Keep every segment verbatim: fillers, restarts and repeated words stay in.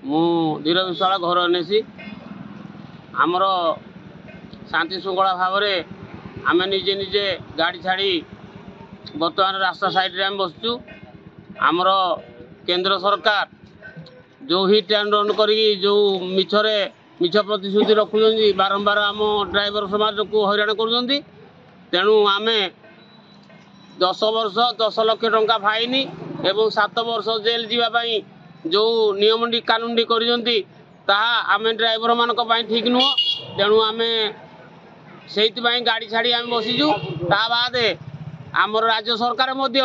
ମୁଁ ଧୀର ବିଶ୍ୱାଳ, ଘର ଏନ୍ଏସି। ଆମର ଶାନ୍ତି ଶୃଙ୍ଖଳା ଭାବରେ ଆମେ ନିଜେ ନିଜେ ଗାଡ଼ି ଛାଡ଼ି ବର୍ତ୍ତମାନ ରାସ୍ତା ସାଇଡ଼ରେ ଆମେ ବସିଛୁ। ଆମର କେନ୍ଦ୍ର ସରକାର ଯେଉଁ ହିଟ୍ ଆଣ୍ଡ ରନ୍ କରିକି ଯେଉଁ ମିଛରେ ମିଛ ପ୍ରତିଶ୍ରୁତି ରଖୁଛନ୍ତି, ବାରମ୍ବାର ଆମ ଡ୍ରାଇଭର ସମାଜକୁ ହଇରାଣ କରୁଛନ୍ତି। ତେଣୁ ଆମେ ଦଶ ବର୍ଷ ଦଶ ଲକ୍ଷ ଟଙ୍କା ଫାଇନ୍ ଏବଂ ସାତ ବର୍ଷ ଜେଲ୍ ଯିବା ପାଇଁ ଯେଉଁ ନିୟମଟି କାନୁନଟି କରିଛନ୍ତି, ତାହା ଆମେ ଡ୍ରାଇଭରମାନଙ୍କ ପାଇଁ ଠିକ୍ ନୁହଁ। ତେଣୁ ଆମେ ସେଇଥିପାଇଁ ଗାଡ଼ି ଛାଡ଼ି ଆମେ ବସିଛୁ। ତା ବାଦେ ଆମର ରାଜ୍ୟ ସରକାର ମଧ୍ୟ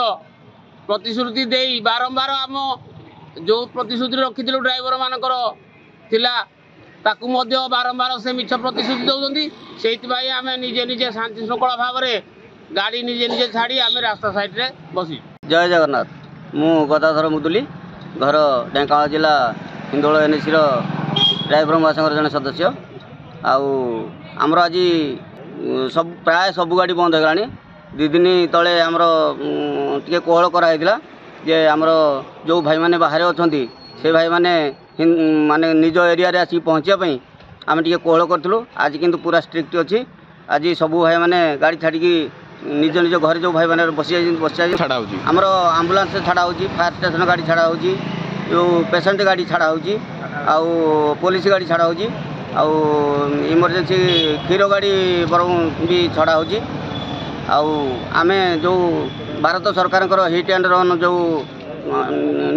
ପ୍ରତିଶ୍ରୁତି ଦେଇ ବାରମ୍ବାର ଆମ ଯେଉଁ ପ୍ରତିଶ୍ରୁତି ରଖିଥିଲୁ ଡ୍ରାଇଭରମାନଙ୍କର ଥିଲା, ତାକୁ ମଧ୍ୟ ବାରମ୍ବାର ସେ ମିଛ ପ୍ରତିଶ୍ରୁତି ଦେଉଛନ୍ତି। ସେଇଥିପାଇଁ ଆମେ ନିଜେ ନିଜେ ଶାନ୍ତି ଶୃଙ୍ଖଳା ଭାବରେ ଗାଡ଼ି ନିଜେ ନିଜେ ଛାଡ଼ି ଆମେ ରାସ୍ତା ସାଇଡ଼ରେ ବସିଛୁ। ଜୟ ଜଗନ୍ନାଥ। ମୁଁ ଗଦାଧର ମୁଦୁଲି, ଘର ଢେଙ୍କାନାଳ ଜିଲ୍ଲା ହିନ୍ଦୋଳ ଏନ୍ଏସିର ଡ୍ରାଇଭର ମହାସଂଘର ଜଣେ ସଦସ୍ୟ। ଆଉ ଆମର ଆଜି ସବୁ ପ୍ରାୟ ସବୁ ଗାଡ଼ି ବନ୍ଦ ହେଇଗଲାଣି। ଦୁଇ ଦିନ ତଳେ ଆମର ଟିକେ କୋହଳ କରାହେଇଥିଲା ଯେ ଆମର ଯେଉଁ ଭାଇମାନେ ବାହାରେ ଅଛନ୍ତି, ସେ ଭାଇମାନେ ମାନେ ନିଜ ଏରିଆରେ ଆସିକି ପହଞ୍ଚିବା ପାଇଁ ଆମେ ଟିକେ କୋହଳ କରିଥିଲୁ। ଆଜି କିନ୍ତୁ ପୁରା ଷ୍ଟ୍ରିକ୍ଟ ଅଛି। ଆଜି ସବୁ ଭାଇମାନେ ଗାଡ଼ି ଛାଡ଼ିକି ନିଜ ନିଜ ଘରେ ଯେଉଁ ଭାଇମାନେ ବସି ଯାଇଛନ୍ତି, ବସି ଯାଇଛନ୍ତି। ଛାଡ଼ା ହେଉଛି? ଆମର ଆମ୍ବୁଲାନ୍ସ ଛାଡ଼ା ହେଉଛି, ଫାୟାର ଷ୍ଟେସନ ଗାଡ଼ି ଛାଡ଼ା ହେଉଛି, ଯେଉଁ ପେସେଣ୍ଟ ଗାଡ଼ି ଛାଡ଼ା ହେଉଛି, ଆଉ ପୋଲିସ ଗାଡ଼ି ଛାଡ଼ା ହେଉଛି, ଆଉ ଇମର୍ଜେନ୍ସି କ୍ଷୀର ଗାଡ଼ି ବରଂ ବି ଛଡ଼ା ହେଉଛି। ଆଉ ଆମେ ଯେଉଁ ଭାରତ ସରକାରଙ୍କର ହିଟ୍ ଆଣ୍ଡ ରନ୍ ଯେଉଁ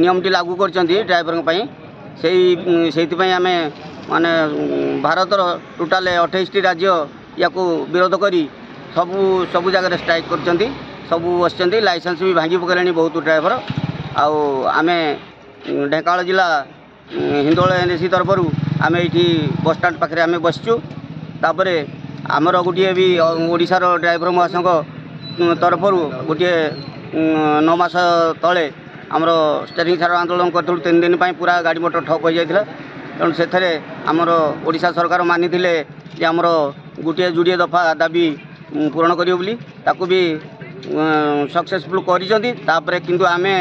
ନିୟମଟି ଲାଗୁ କରିଛନ୍ତି ଡ୍ରାଇଭରଙ୍କ ପାଇଁ, ସେଇ ସେଇଥିପାଇଁ ଆମେ ମାନେ ଭାରତର ଟୋଟାଲ ଅଠେଇଶଟି ରାଜ୍ୟ ୟାକୁ ବିରୋଧ କରି ସବୁ ସବୁ ଜାଗାରେ ଷ୍ଟ୍ରାଇକ୍ କରିଛନ୍ତି, ସବୁ ବସିଛନ୍ତି। ଲାଇସେନ୍ସ ବି ଭାଙ୍ଗି ପକାଇଲେଣି ବହୁତ ଡ୍ରାଇଭର। ଆଉ ଆମେ ଢେଙ୍କାନାଳ ଜିଲ୍ଲା ହିନ୍ଦୋଳ ଏନ୍ ସି ତରଫରୁ ଆମେ ଏଇଠି ବସଷ୍ଟାଣ୍ଡ ପାଖରେ ଆମେ ବସିଛୁ। ତାପରେ ଆମର ଗୋଟିଏ ବି ଓଡ଼ିଶାର ଡ୍ରାଇଭର ମହାସଂଘ ତରଫରୁ ଗୋଟିଏ ନଅ ମାସ ତଳେ ଆମର ଷ୍ଟେରିଂ ଛାଡ଼ ଆନ୍ଦୋଳନ କରିଥିଲୁ। ତିନି ଦିନ ପାଇଁ ପୁରା ଗାଡ଼ି ମଟର ଠପ୍ ହୋଇଯାଇଥିଲା। ତେଣୁ ସେଥିରେ ଆମର ଓଡ଼ିଶା ସରକାର ମାନିଥିଲେ ଯେ ଆମର ଗୋଟିଏ ଯୋଡ଼ିଏ ଦଫା ଦାବି ପୂରଣ କରିବେ ବୋଲି, ତାକୁ ବି ସକ୍ସେସଫୁଲ୍ କରିଛନ୍ତି। ତାପରେ କିନ୍ତୁ ଆମେ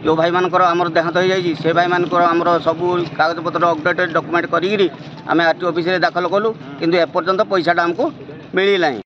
ଯେଉଁ ଭାଇମାନଙ୍କର ଆମର ଦେହାନ୍ତ ହୋଇଯାଇଛି, ସେ ଭାଇମାନଙ୍କର ଆମର ସବୁ କାଗଜପତ୍ର ଅପଡ଼େଟେଡ଼ ଡକୁମେଣ୍ଟ କରିକିରି ଆମେ ଆର୍ ଟି ଅଫିସରେ ଦାଖଲ କଲୁ, କିନ୍ତୁ ଏପର୍ଯ୍ୟନ୍ତ ପଇସାଟା ଆମକୁ ମିଳିନାହିଁ।